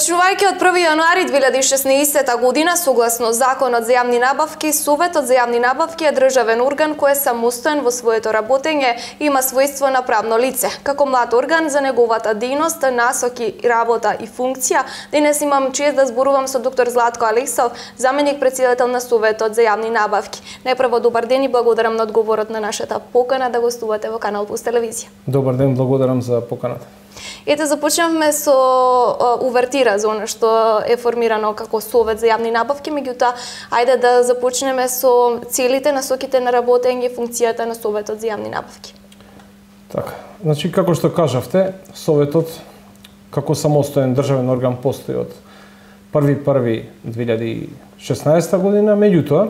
Почнувајќи од 1 јануари 2016 година, согласно Законот за јавни набавки, Советот за јавни набавки е државен орган кој е самостоен во своето работење и има својство на правно лице. Како млад орган за неговата дејност, насоки, работа и функција, денес имам чест да зборувам со доктор Златко Алексов, заменик председател на Советот за јавни набавки. Најпрво добар ден и благодарам на одговорот на нашата покана да гостувате во Канал Плюс телевизија. Добар ден, благодарам за поканата. Ете, започнавме со увертира за она што е формирано како Совет за јавни набавки, меѓутоа, ајде да започнеме со целите, насоките на работење и функцијата на Советот за јавни набавки. Така, значи, како што кажавте, Советот како самостоен државен орган постои од 1.1.2016 година, меѓутоа,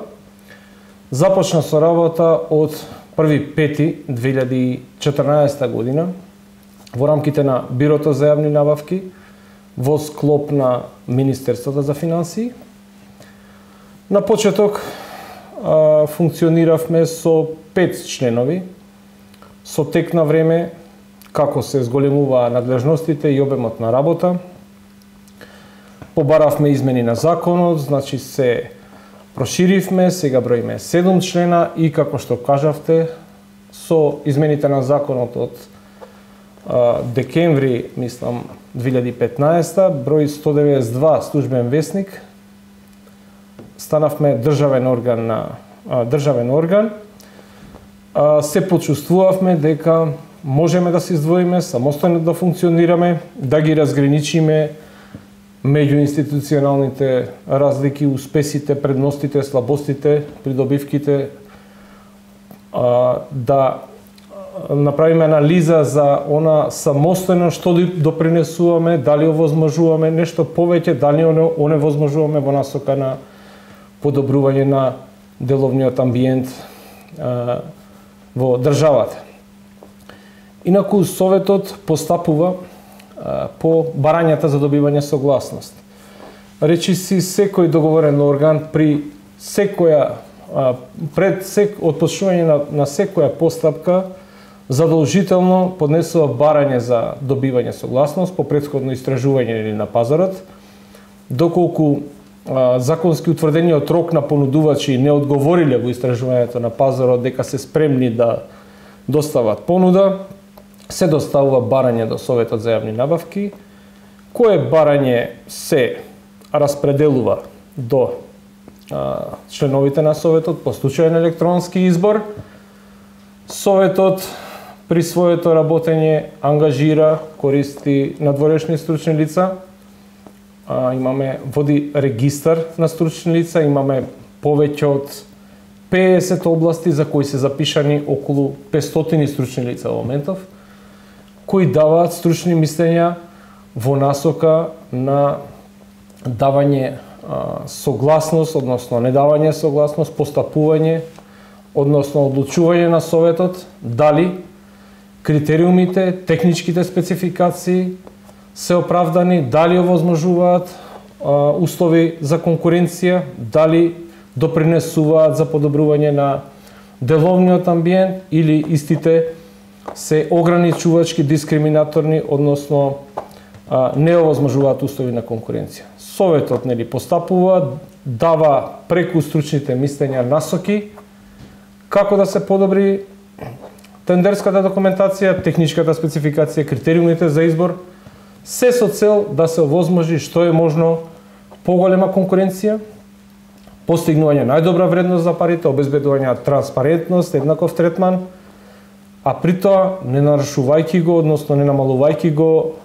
започна со работа од 1.5.2014 година, во рамките на Бирото за јавни набавки, во склоп на Министерството за финансии. На почеток функциониравме со 5 членови, со тек на време како се зголемуваа надлежностите и обемот на работа. Побаравме измени на законот, значи се проширивме, сега броиме 7 члена и како што кажавте, со измените на законот од декември, мислам, 2015, број 192 службен весник, станавме државен орган, се почувствувавме дека можеме да се издвоиме, самостојно да функционираме, да ги разграничиме меѓуинституционалните разлики, успесите, предностите, слабостите, придобивките, да направиме анализа за она самостојно што допринесуваме, дали овозможуваме нешто повеќе, дали оневозможуваме во насока на подобрување на деловниот амбиент во државата. Инаку Советот постапува по барањата за добивање согласност. Речиси, секој договорен орган при секоја отпочнување на секоја постапка задолжително поднесува барање за добивање согласност по претходно истражување или на пазарот, доколку законски утврдениот рок на понудувачи не одговориле во истражувањето на пазарот дека се спремни да достават понуда, се доставува барање до Советот за јавни набавки, кое барање се распределува до членовите на Советот по случајен електронски избор. Советот при своето работење ангажира, користи надворешни стручни лица. Води регистар на стручни лица, имаме повеќе од 50 области за кои се запишани околу 500 стручни лица во моментов, кои даваат стручни мислења во насока на давање согласност, односно не давање согласност, постапување, односно одлучување на Советот, дали критериумите, техничките спецификации се оправдани, дали овозможуваат услови за конкуренција, дали допринесуваат за подобрување на деловниот амбиент или истите се ограничувачки, дискриминаторни, односно не овозможуваат услови на конкуренција. Советот постапува, дава преку стручните мислења насоки како да се подобри тендерската документација, техничката спецификација, критериумите за избор, се со цел да се овозможи што е можно поголема конкуренција, постигнување најдобра вредност за парите, обезбедување на транспарентност, еднаков третман, а при тоа не нарушувајќи го, односно не намалувајќи го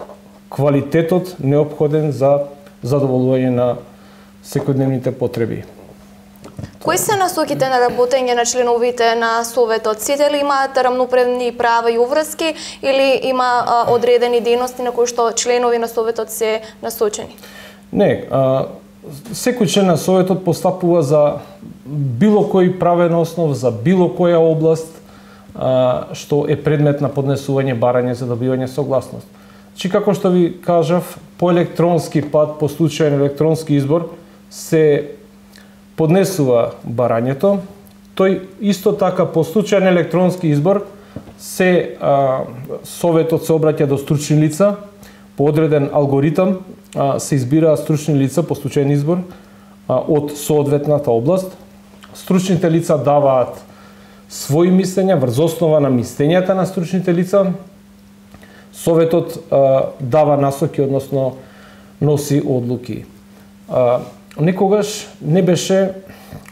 квалитетот неопходен за задоволување на секојдневните потреби. Кои се насоките на работење на членовите на Советот? Сите ли имаат рамноправни права и уврски или има одредени дејности на кои што членови на Советот се насочени? Не, секој член на Советот постапува за било кој правен основ, за било која област што е предмет на поднесување барање за добивање согласност. Чи како што ви кажав, по електронски пат, по случајен електронски избор, се поднесува барањето. Тој исто така по случајен електронски избор Советот се обраќа до стручни лица по одреден алгоритам се избираат стручни лица по случаен избор од соодветната област. Стручните лица даваат своји мислења врз основа на мислењата на стручните лица. Советот дава насоки, односно носи одлуки. Некогаш не беше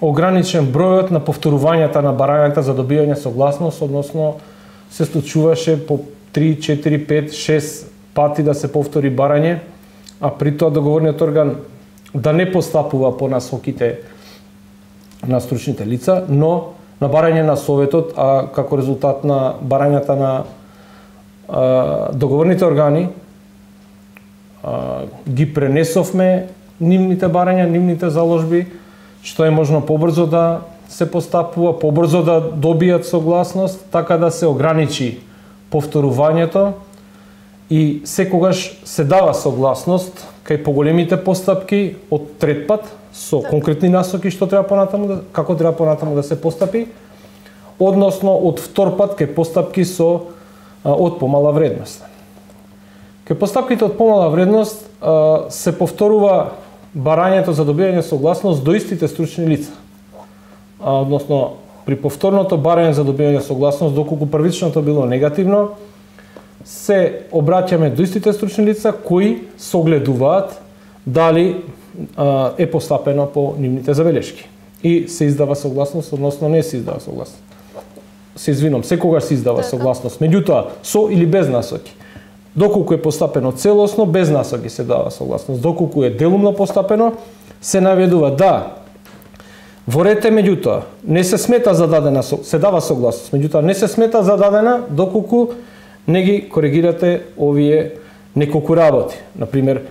ограничен бројот на повторувањата на барањата за добивање согласност, односно се случуваше по 3, 4, 5, 6 пати да се повтори барање, а при тоа договорниот орган да не постапува по насоките на стручните лица, но на барање на Советот, а како резултат на барањата на договорните органи, ги пренесовме нивните барања, нивните заложби, што е можно побрзо да се постапува, побрзо да добијат согласност, така да се ограничи повторувањето и секогаш се дава согласност кај поголемите постапки од трет пат со конкретни насоки што треба понатаму, како треба понатаму да се постапи, односно од втор пат кај постапки со од помала вредност. Кај постапките од помала вредност се повторува барањето за добивање согласност до истите стручни лица. Односно, при повторното барање за добивање согласност, доколку првичното било негативно, се обраќаме до истите стручни лица кои согледуваат дали е постапено по нивните забелешки. И се издава согласност, односно не се издава согласност. Се извинам, секогаш се издава согласност, меѓутоа со или без насоки. Доколку е постапено целосно, без насоки се дава согласност. Доколку е делумно постапено, се наведува да во рете, меѓутоа не се смета за дадена, се дава согласност, меѓутоа не се смета за дадена доколку не ги коригирате овие неколку работи. Например,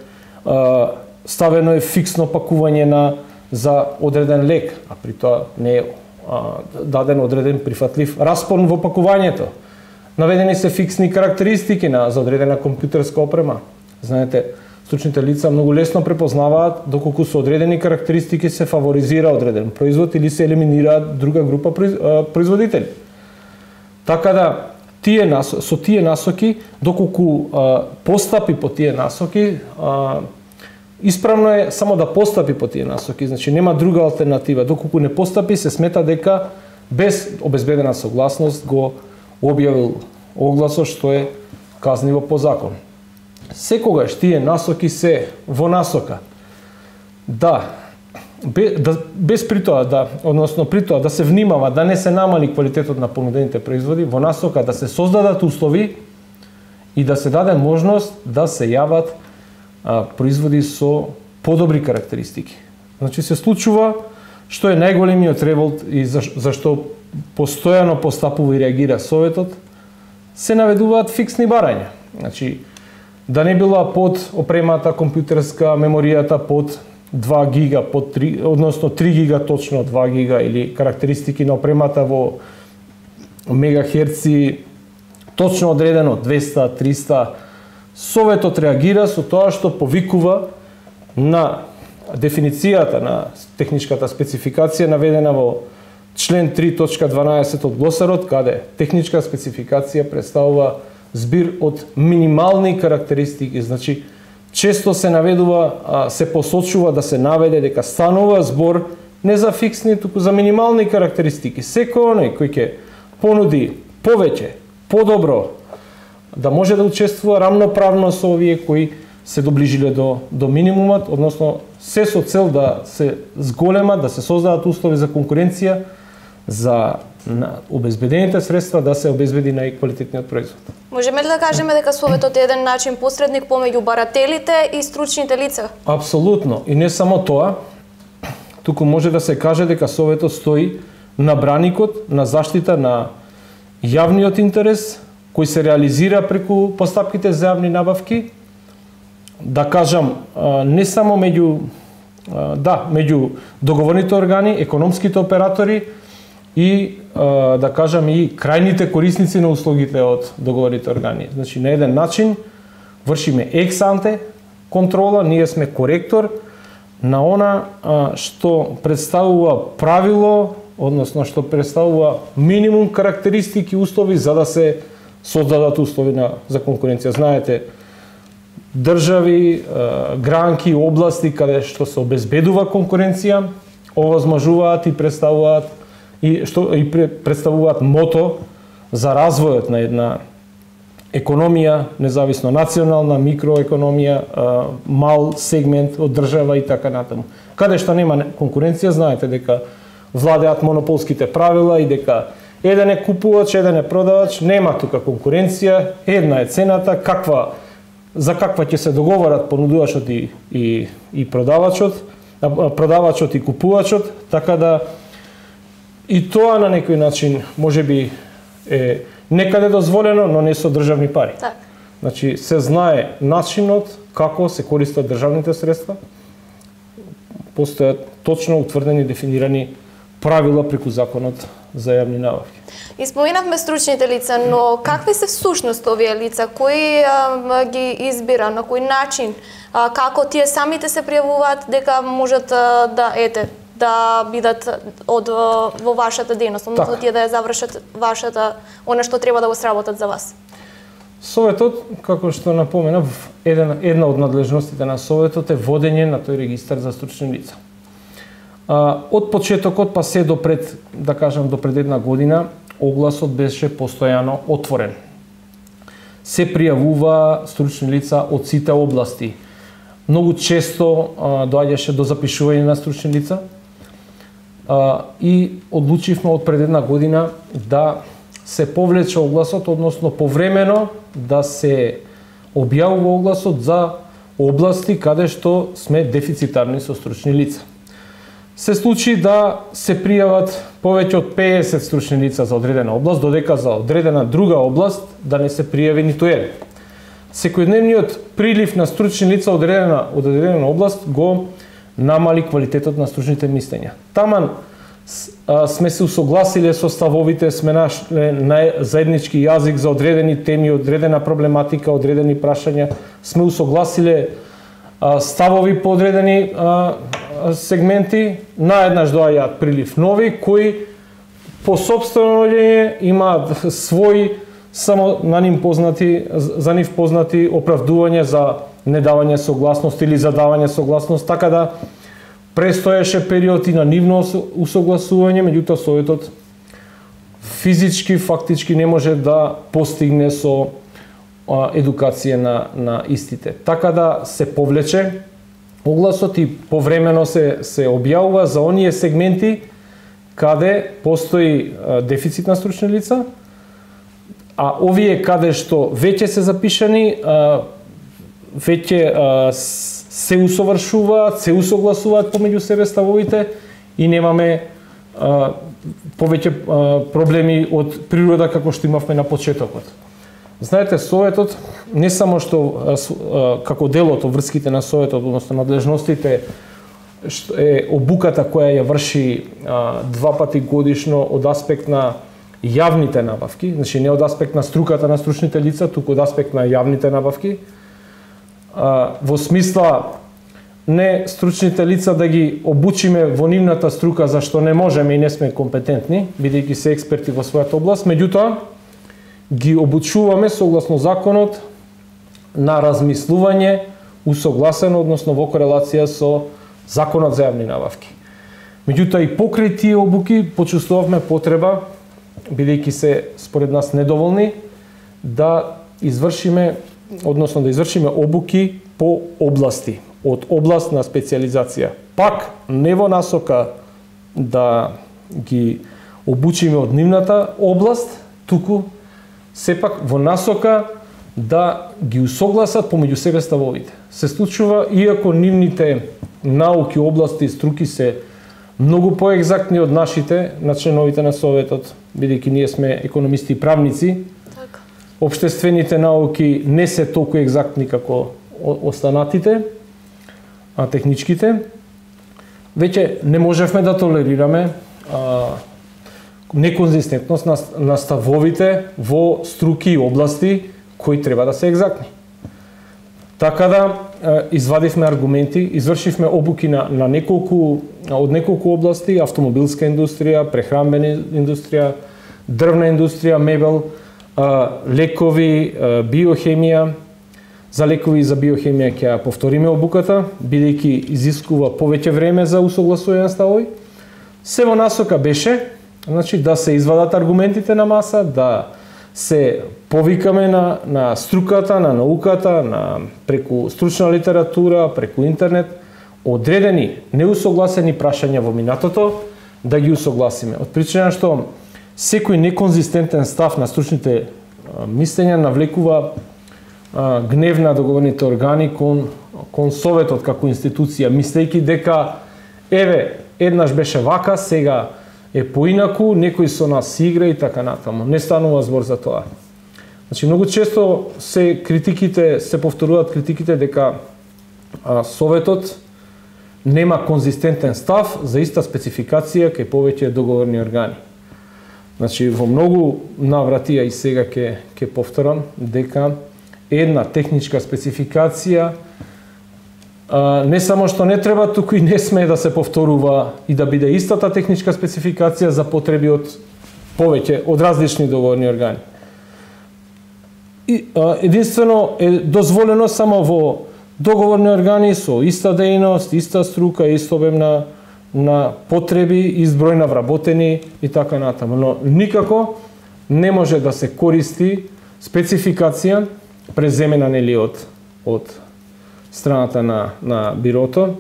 ставено е фиксно пакување за одреден лек, а при тоа не е даден одреден прифатлив распон во пакувањето. Наведени се фиксни карактеристики за одредена компјутерска опрема. Знаете, стручните лица многу лесно препознаваат доколку со одредени карактеристики се фаворизира одреден производ или се елиминираат друга група производители. Така да, со тие насоки, доколку постапи по тие насоки, исправно е само да постапи по тие насоки, значи нема друга алтернатива. Доколку не постапи, се смета дека без обезбедена согласност го објавил огласот, што е казниво по закон. Секогаш тие насоки се во насока без при тоа односно при тоа да се внимава да не се намали квалитетот на понудените производи, во насока да се создадат услови и да се даде можност да се јават производи со подобри карактеристики. Значи се случува што е најголемиот револт и зашто постојано постапува и реагира Советот, се наведуваат фиксни барања. Значи, да не била под опремата компјутерска, меморијата под 2 гига, под 3, односно 3 гига точно 2 гига или карактеристики на опремата во мегахерци точно одредено 200, 300. Советот реагира со тоа што повикува на дефиницијата на техничката спецификација наведена во член 3.12 од глосарот, каде техничка спецификација представува збир од минимални карактеристики. Значи, често се наведува, се посочува да се наведе дека станува збор не за фиксни, туку за минимални карактеристики. Секој оној кој ќе понуди повеќе, подобро, да може да учествува рамноправно со овие кои се доближиле до минимумот, односно се со цел да се зголема, да се создадат услови за конкуренција, за обезбедените средства да се обезбеди најквалитетниот производ. Можеме ли да кажеме дека Советот е еден начин посредник помеѓу барателите и стручните лица? Апсолутно. И не само тоа, туку може да се каже дека Советот стои на браникот, на заштита на јавниот интерес, кој се реализира преку постапките за јавни набавки, да кажам, не само меѓу договорните органи, економските оператори и да кажам и крајните корисници на услугите од договорните органи. Значи на еден начин вршиме екс-анте контрола, ние сме коректор на она што представува правило, односно што представува минимум карактеристики, услови за да се создадат услови за конкуренција. Знаете, држави, гранки, области каде што се обезбедува конкуренција, овозможуваат и представуваат мото за развојот на една економија, независно национална, микроекономија, мал сегмент од држава и така натаму. Каде што нема конкуренција, знаете дека владеат монополските правила и дека еден е купувач, еден е продавач, нема тука конкуренција, една е цената, за каква ќе се договорат понудувачот и продавачот и купувачот, така да и тоа на некој начин можеби е некаде дозволено, но не со државни пари. Так. Значи се знае начинот како се користат државните средства. Постојат точно утврдени, дефинирани правила преку законот за јавни набавки. Испоминавме стручните лица, но какви се всушност овие лица? Кој ги избира, на кој начин? Како тие самите се пријавуваат дека можат да бидат во вашата дејност, односно тие да ја завршат вашата, она што треба да го сработат за вас? Советот, како што напоменав, една од надлежностите на Советот е водење на тој регистар за стручни лица. Од почетокот па се до пред една година, огласот беше постојано отворен. Се пријавува стручни лица од сите области. Многу често доаѓаше до запишување на стручни лица и одлучивме од пред една година да се повлече огласот, односно повремено да се објавува огласот за области каде што сме дефицитарни со стручни лица. Се случи да се пријават повеќе од 50 стручни лица за одредена област, додека за одредена друга област да не се пријави ниту еден. Секојдневниот прилив на стручни лица од одредена област го намали квалитетот на стручните мислења. Таман сме се усогласиле со ставовите, сме нашле заеднички јазик за одредени теми, одредена проблематика, одредени прашања, сме усогласиле ставови по одредени сегменти, наеднаш доаѓаат прилив нови кои по сопствено наоѓање имаат своји само за нив познати оправдување за недавање согласност или за давање согласност, така да престоеше период и на нивно усогласување, меѓутоа Советот физички, фактички не може да постигне со едукација на истите. Така да се повлече огласот и повремено се објавува за оние сегменти каде постои дефицит на стручни лица, а овие каде што веќе се запишани, веќе се усовршуваат, се усогласуваат помеѓу себе ставовите и немаме повеќе проблеми од природа како што имавме на почетокот. Знаете, Советот не само што како дел од врските на Советот, односно надлежностите, е обуката која ја врши 2 пати годишно од аспект на јавните набавки, значи не од аспект на струката на стручните лица, туку од аспект на јавните набавки, во смисла не стручните лица да ги обучиме во нивната струка за што не можеме и не сме компетентни, бидејќи се експерти во својата област, меѓутоа ги обучуваме согласно законот на размислување усогласено, односно во корелација со законот за јавни набавки. Меѓутоа и покрај тие обуки почувствувавме потреба, бидејќи се според нас недоволни, да извршиме обуки по области, од област на специјализација. Пак не во насока да ги обучиме од нивната област, туку сепак во насока да ги усогласат помеѓу себе ставовите. Се случува, иако нивните науки, области, струки се многу поегзактни од нашите, на членовите на Советот, бидејќи ние сме економисти и правници, општествените науки не се толку екзактни како останатите, а техничките. Веќе не можевме да толерираме неконзистентност на ставовите во струки и области кои треба да се екзактни. Така да извадивме аргументи, извршивме обуки од неколку области: автомобилска индустрија, прехранбена индустрија, дрвна индустрија, мебел, лекови, биохемија, За лекови и за биохемија ќе ја повториме обуката, бидејќи изискува повеќе време за усогласување на ставови. Се во насока беше, значи, да се извадат аргументите на маса, да се повикаме на струката, на науката, преку стручна литература, преку интернет, одредени неусогласени прашања во минатото, да ги усогласиме. Од причина што секој неконзистентен став на стручните мислења навлекува гнев на договорните органи кон Советот како институција, мислејќи дека еве, еднаш беше вака, сега е поинаку, некој со нас игра и така натаму. Не станува збор за тоа. Значи, многу често се повторуваат критиките дека Советот нема конзистентен став за иста спецификација кај повеќе договорни органи. Значи, во многу наврати, и сега ќе повторам, дека една техничка спецификација не само што не треба, туку и не смее да се повторува и да биде истата техничка спецификација за потреби од повеќе, од различни договорни органи. Единствено е дозволено само во договорни органи со иста дејност, иста струка, ист обем на потреби, ист број на вработени и така натаму. Но никако не може да се користи спецификација преземена нели од страната на бирото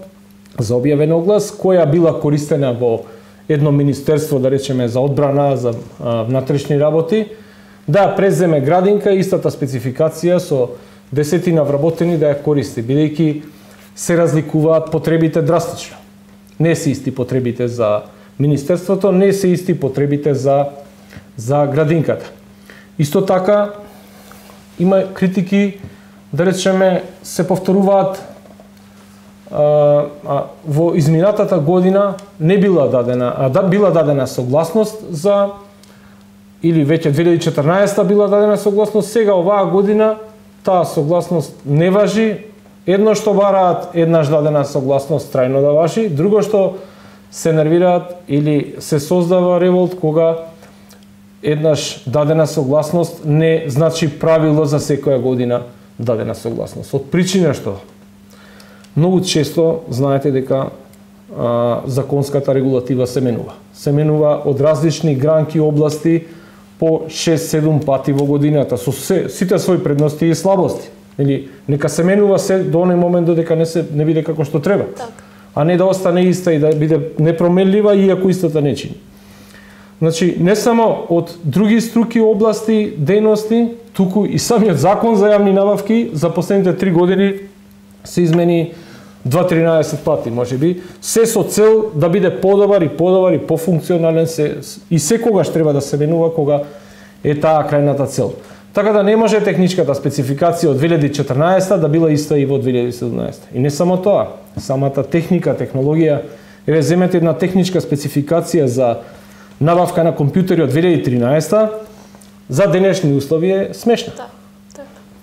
за објавен оглас, која била користена во едно министерство, да речеме за одбрана, за внатрешни работи, да преземе градинка истата спецификација со десетина вработени да ја користи, бидејќи се разликуваат потребите драстично. Не се исти потребите за министерството, не се исти потребите за градинката. Исто така, има критики, да речеме, се повторуваат во изминатата година не била дадена, била дадена согласност за, или веќе 2014 била дадена согласност, сега оваа година таа согласност не важи. Едно што бараат еднаш дадена согласност трајно да важи, друго што се нервираат или се создава револт кога еднаш дадена согласност не значи правило за секоја година дадена согласност. Од причина што многу често знаете дека законската регулатива се менува. Се менува од различни гранки области по 6-7 пати во годината со сите своји предности и слабости. Или нека се менува се до оној момент додека не биде како што треба. Так. А не да остане иста и да биде непроменлива иако истата не чини. Значи, не само од други струки области, дејности, туку и самиот закон за јавни набавки за последните 3 години се измени 2-13 пати, можеби, се со цел да биде подобар и пофункционален и секогаш треба да се менува кога е таа крајната цел. Така да не може техничката спецификација од 2014 да била иста и во 2017. И не само тоа, самата техника, технологија, еве земете една техничка спецификација за набавка на компјутери од 2013 за денешни услови е смешна.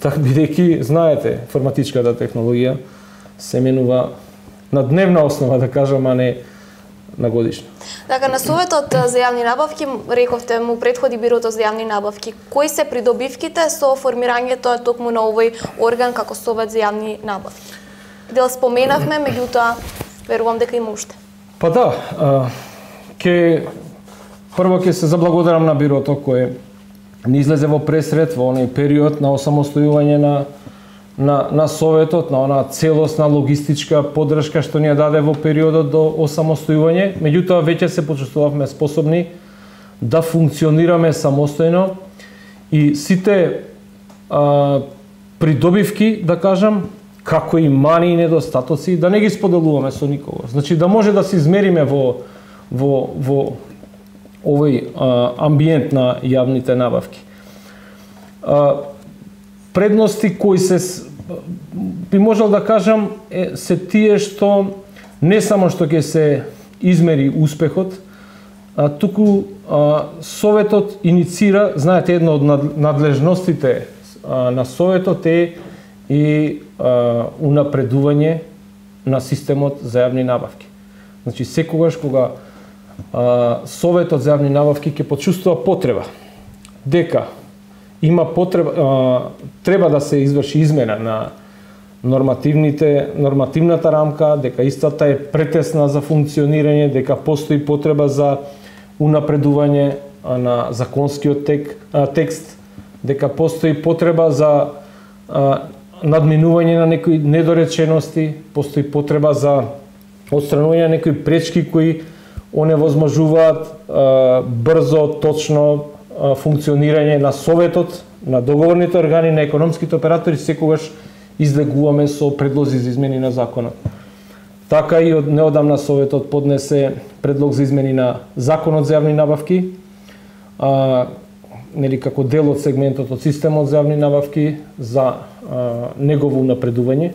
Так бидејќи знаете, информатичката технологија се менува на дневна основа, да кажам, а не на годишна. Така, на Советот за јавни набавки, рековте, му претходи Бирото за јавни набавки. Кои се придобивките со формирањето токму на овој орган како Совет за јавни набавки? Дел споменавме, меѓутоа, верувам дека има уште. Па да, прво ќе се заблагодарам на Бирото кое не излезе во пресред во оној период на осамостојување на Советот, на она целосна логистичка поддршка што ни ја даде во периодот до осамостојување. Меѓутоа, веќе се почувствувавме способни да функционираме самостојно и сите придобивки, да кажам, како и мани и недостатоци, да не ги споделуваме со никого. Значи, да може да се измериме во овој амбиент на јавните набавки. Предности кои би можел да кажам се тие што не само што ќе се измери успехот, туку Советот иницира, знаете, една од надлежностите на Советот е и унапредување на системот за јавни набавки. Значи, секогаш кога Советот за јавни набавки ќе почувствува потреба дека има потреба, треба да се изврши измена нормативната рамка, дека истата е претесна за функционирање, дека постои потреба за унапредување на законскиот текст, дека постои потреба за надминување на некои недоречености, постои потреба за отстранување на некои пречки кои оневозможуваат брзо, точно функционирање на Советот, на договорните органи, на економските оператори. Секогаш излегуваме со предлози за измени на законот. Така и од неодамна Советот поднесе предлог за измени на Законот за јавни набавки, како дел од сегментот од системот за јавни набавки за негово унапредување.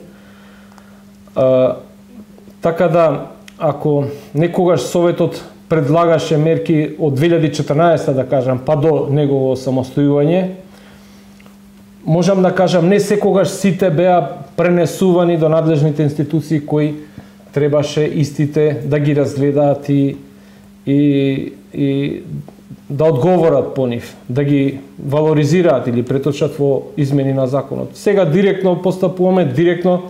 Така да, ако некогаш Советот предлагаше мерки од 2014, да кажам, па до негово самостојување, можам да кажам, не секогаш сите беа пренесувани до надлежните институции кои требаше истите да ги разгледаат и да одговорат по нив, да ги валоризираат или преточат во измени на законот. Сега директно постапуваме, директно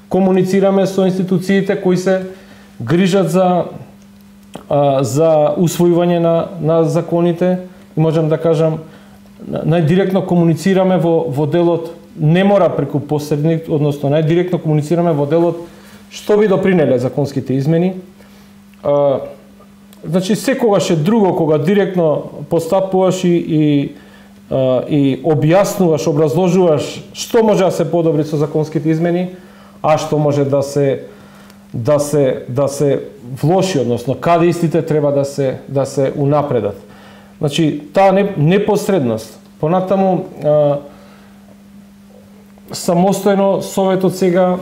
комуницираме со институциите кои се грижат за усвојување на законите и можам да кажам, најдиректно комуницираме во делот, не мора преку посредник, односно најдиректно комуницираме во делот што би допринеле законските измени. Значи, секогаш е друго кога директно постапуваш и објаснуваш, образложуваш што може да се подобри со законските измени, а што може да се влоши, односно каде истите треба да се унапредат. Значи, таа непосредност. Понатаму, самостојно Советот сега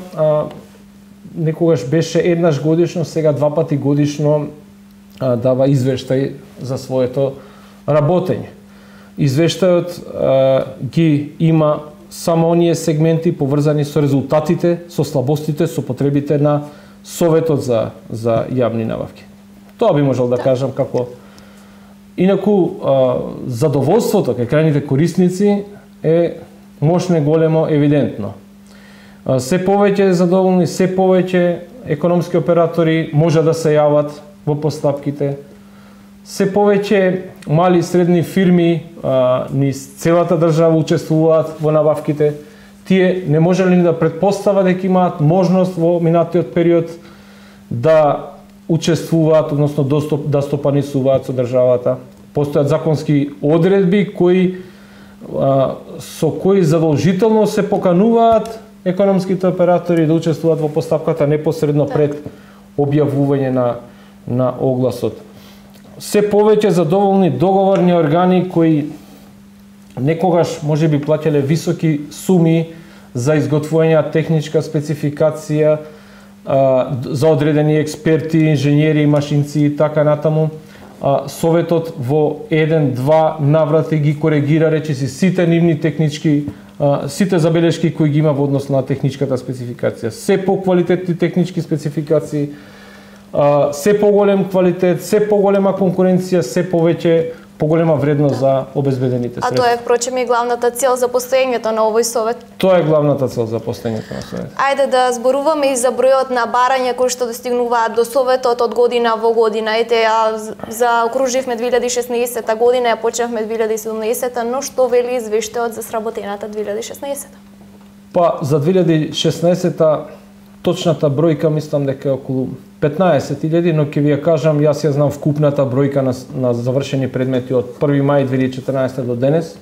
некогаш беше еднаш годишно, сега 2 пати годишно дава извештај за своето работење. Извештајот ги има само оние сегменти поврзани со резултатите, со слабостите, со потребите на Советот за јавни набавки. Тоа би можел да кажам како. Инаку, задоволството кај крајните корисници е мощно и големо евидентно. Се повеќе задоволни, се повеќе економски оператори може да се јават во постапките. Се повеќе мали и средни фирми низ целата држава учествуваат во набавките. Тие не можеле ни да претпостават дека имаат можност во минатиот период да учествуваат, односно да стопанисуваат со државата. Постојат законски одредби со кои задолжително се покануваат економските оператори да учествуваат во постапката непосредно пред објавување на огласот. Се повеќе задоволни договорни органи кои некогаш можеби плаќале високи суми за изготвување на техничка спецификација за одредени експерти, инженери, машинци и така натаму. Советот во 1-2 наврати ги коригира речиси сите нивни технички, сите забелешки кои ги има во однос на техничката спецификација. Се поквалитетни технички спецификации, се поголем квалитет, се поголема конкуренција, се повеќе поголема вредност за обезбедените средства. А тоа е впрочем и главната цел за постоењето на овој совет. Тоа е главната цел за постоењето на совет. Ајде да зборуваме и за бројот на барања кои што достигнуваат до советот од година во година. Ете, заокруживме 2016 година, ја почнавме 2017, но што вели извештајот за сработената 2016? Па за 2016 точната бројка мислам дека е околу 15.000, но ќе ви ја кажам, јас ја знам вкупната бројка на завршени предмети од 1 мај 2014 до денес.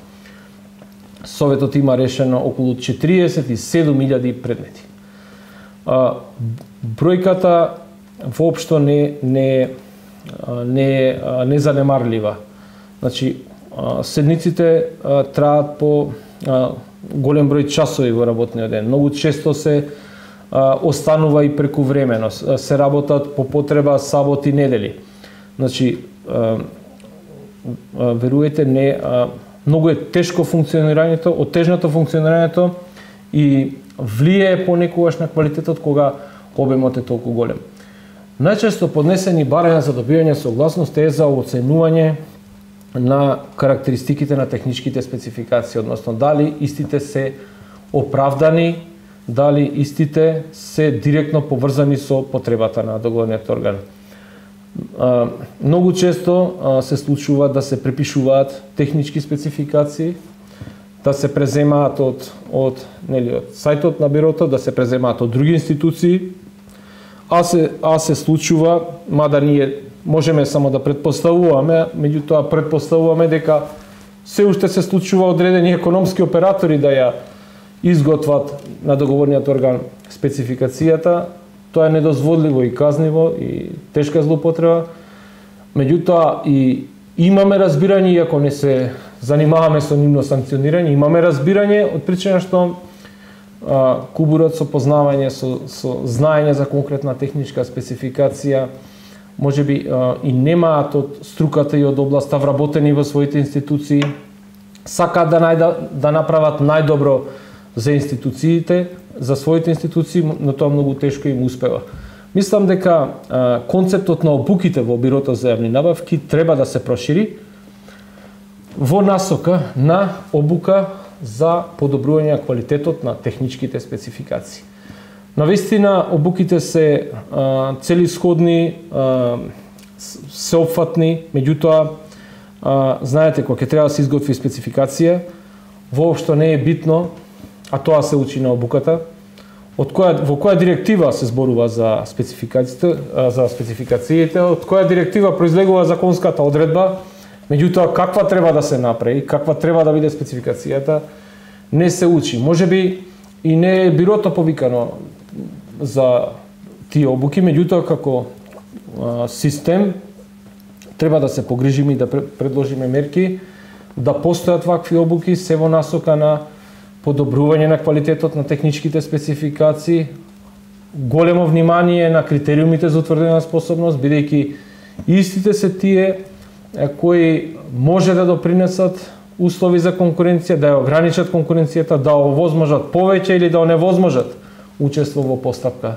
Советот има решено околу 47.000 предмети. Бројката воопшто не е незанемарлива. Значи, седниците траат по голем број часови во работниот ден. Многу често се останува и прекувремено, се работат по потреба саботи, недели. Значи, веруете, многу е тешко функционирањето, оттежнато функционирањето и влијае понекогаш на квалитетот кога обемот е толку голем. Најчесто поднесени барања за добивање согласност е за оценување на карактеристиките на техничките спецификации, односно дали истите се оправдани дали истите се директно поврзани со потребата на договорниот орган. Многу често се случува да се препишуваат технички спецификации, да се преземаат од сајтот на бирото, да се преземаат од други институции, а се случува, мада ние можеме само да предпоставуваме, меѓутоа предпоставуваме дека се уште се случува одредени економски оператори да ја изготват на договорниот орган спецификацијата. Тоа е недозволиво и казниво и тешка злоупотреба. Меѓутоа и имаме разбирање, иако не се занимаваме со нивно санкционирање, имаме разбирање од причина што кубурот со познавање, со знаење за конкретна техничка спецификација, можеби и немаат од струката и од областа вработени во своите институции, сакаат да направат најдобро за институциите, за своите институции, но тоа многу тешко им успева. Мислам дека концептот на обуките во Бирото за јавни набавки треба да се прошири во насока на обука за подобрување на квалитетот на техничките спецификации. Навистина, обуките се целисходни, сеопфатни, меѓутоа, знаете, кога ќе треба да се изготви спецификација, воопшто не е битно, а тоа се учи на обуката, во која директива се зборува за спецификациите, од која директива произлегува законската одредба, меѓутоа каква треба да се направи, каква треба да биде спецификацијата, не се учи. Можеби и не е бирото повикано за тие обуки, меѓутоа како систем треба да се погрижиме и да предложиме мерки да постојат вакви обуки, се во насока на подобрување на квалитетот на техничките спецификации, големо внимание на критериумите за утврдена способност, бидејќи истите се тие кои може да допринесат услови за конкуренција, да ја ограничат конкуренцијата, да овозможат повеќе или да оневозможат учество во постапка.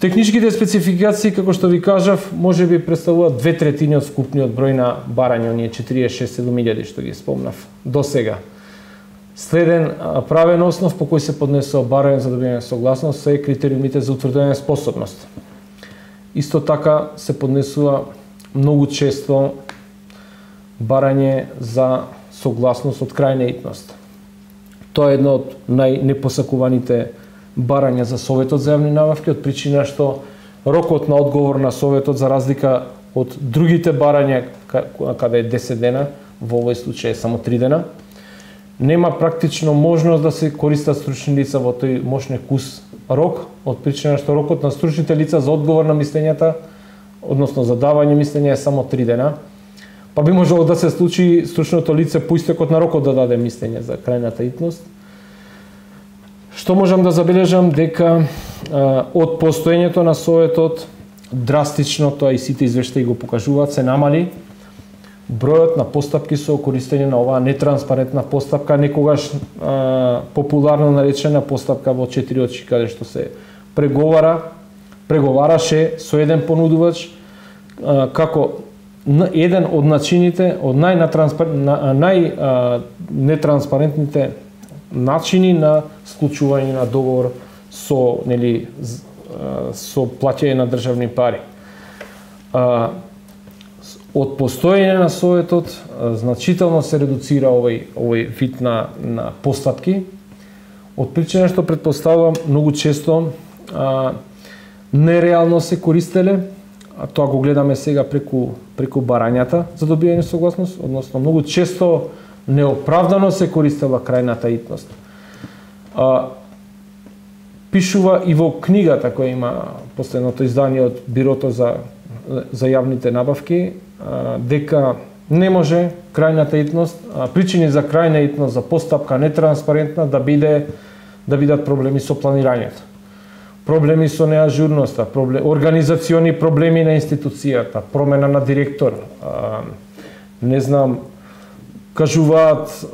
Техничките спецификации, како што ви кажав, може би представуваат 2/3 од вкупниот број на барања, оние 46.000 што ги спомнав до сега. Следен правен основ по кој се поднесува барање за добивање согласност се критериумите за утврдување способност. Исто така се поднесува многу често барање за согласност од крајна итност. Тоа е едно од најнепосакуваните барања за Советот за јавни набавки, од причина што рокот на одговор на Советот, за разлика од другите барања, каде е 10 дена, во овој случај е само 3 дена, нема практично можност да се користат стручни лица во тој мошнекус рок, од причина што рокот на стручните лица за одговор на мислењата, односно за давање мислења е само 3 дена, па би можело да се случи стручното лице по истекот на рокот да даде мислење за крајната итност. Што можам да забележам дека од постоењето на Советот драстично, тоа и сите извештаи го покажуваат, се намали бројот на постапки со користење на оваа нетранспарентна постапка, некогаш популарно наречена постапка во 4 очи, каде што се преговараше со еден понудувач, како еден од начините, од најнетранспарентните начини на склучување на договор со плаќање на државни пари. Од постоење на Советот значително се редуцира овој вид на постапки, од причина што предпоставувам многу често нереално се користеле, а тоа го гледаме сега преку барањата за добивање согласност, односно многу често неоправдано се користела крајната итност. Пишува и во книгата која има последното издание од Бирото за јавните набавки, дека не може крајната итност, причини за крајна итност за постапка нетранспарентна да бидат проблеми со планирањето, проблеми со неажурноста, организациони проблеми на институцијата, промена на директор, не знам, кажуваат,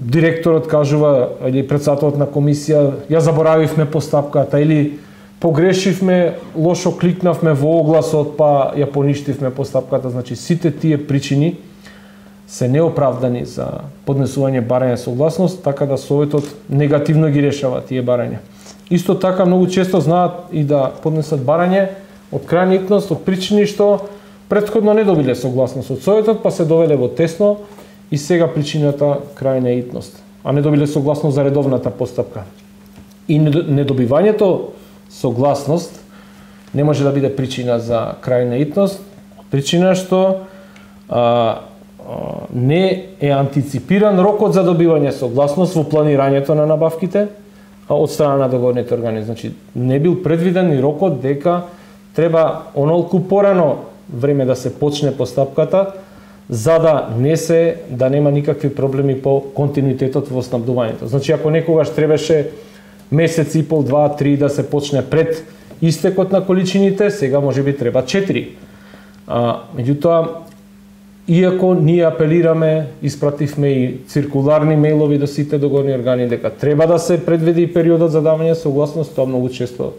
директорот кажува, или председателот на комисија, ја заборавивме постапката, или погрешивме, лошо кликнавме во огласот, па ја поништивме постапката. Значи, сите тие причини се неоправдани за поднесување барање согласност, така да Советот негативно ги решава тие барања. Исто така многу често знаат и да поднесат барање од крајна итност, од причини што претходно не добиле согласност од Советот, па се довеле во тесно и сега причината крајна итност, а не добиле согласност за редовната постапка. И недобивањето согласност не може да биде причина за крајна итност, причина што не е антиципиран рокот за добивање согласност во планирањето на набавките од страна на договорните органи. Значи, не бил предвиден и рокот дека треба онолку порано време да се почне постапката, за да нема никакви проблеми по континуитетот во снабдувањето. Значи, ако некогаш требаше месец и пол, 2, 3 да се почне пред истекот на количините, сега можеби треба 4. Меѓутоа, иако ние апелираме, испративме и циркуларни мејлови до сите договорни органи дека треба да се предвиди периодот за давање согласност, тоа многу често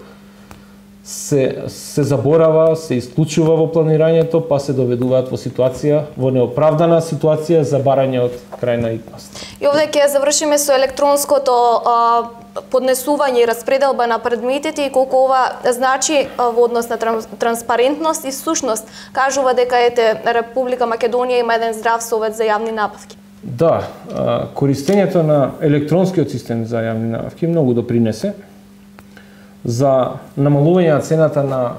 се заборава, се исклучува во планирањето, па се доведуваат во ситуација, во неоправдана ситуација за барање од крајна итност. И овде ќе завршиме со електронското поднесување и распределба на предметите и колку ова значи во однос на транспарентност и сушност. Кажува дека Република Македонија има еден здрав совет за јавни набавки. Да, користењето на електронскиот систем за јавни набавки многу допринесе за намалување на цената на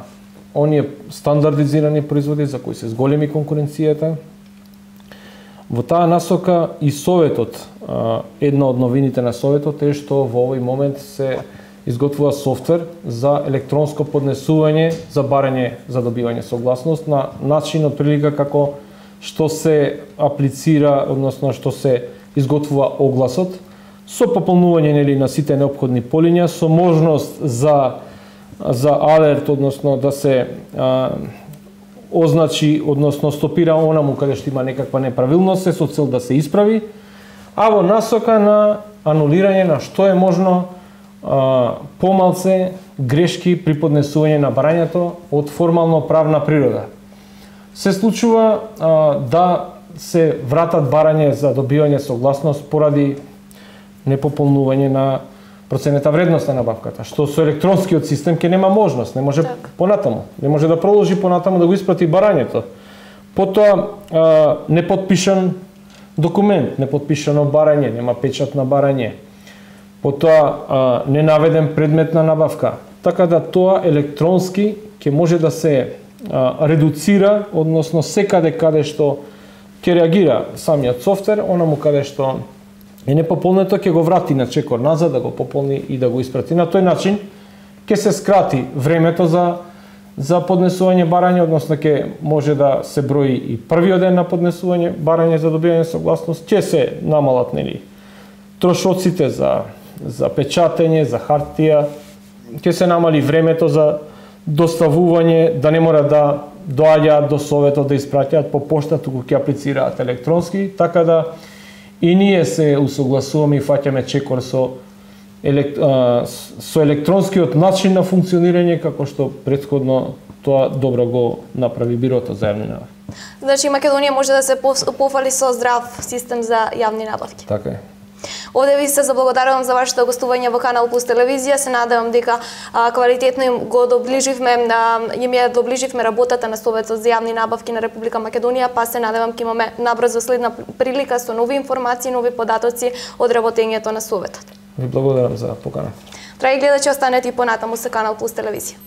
оние стандардизирани производи за кои се зголеми конкуренцијата. Во таа насока и Советот, една од новините на Советот е што во овој момент се изготвува софтвер за електронско поднесување за барање за добивање согласност на начин од прилика како што се аплицира, односно што се изготвува огласот, со пополнување на сите неопходни полиња, со можност за алерт, односно да се означи, односно стопира онаму каде што има некаква неправилност, со цел да се исправи, а во насока на анулирање на што е можно помалце грешки при поднесување на барањето од формално правна природа. Се случува да се вратат барање за добивање согласност поради непополнување на проценета вредност на набавката, што со електронскиот систем ќе нема можност, не може понатаму, не може да продолжи понатаму да го испрати барањето. Потоа непотпишан документ, непотпишано барање, нема печат на барање. Потоа ненаведен предмет на набавка. Така да тоа електронски ќе може да се редуцира, односно секаде каде што ќе реагира самиот софтвер, онаму каде што е непополнето ќе го врати на чекор назад, да го пополни и да го испрати. На тој начин ќе се скрати времето за поднесување барање, односно ќе може да се брои и првиот ден на поднесување барање за добивање согласност, ќе се намалат трошоците за печатење, за хартија, ќе се намали времето за доставување, да не мора да доаѓаат до Советот да испраќаат по пошта, туку ќе аплицираат електронски, така да и ние се усогласуваме и фаќаме чекор со електронскиот начин на функционирање, како што претходно тоа добро го направи Бирото за јавни набавки. Значи Македонија може да се пофали со здрав систем за јавни набавки. Така е. Овде ви се заблагодарувам за вашето гостување во Канал Плюс телевизија. Се надевам дека квалитетно им доближивме работата на Советот за јавни набавки на Република Македонија, па се надевам ќе имаме набрзо следна прилика со нови информации, нови податоци од работењето на Советот. Ви благодарам за поканата. Драги гледачи, останете и понатаму со Канал Плюс телевизија.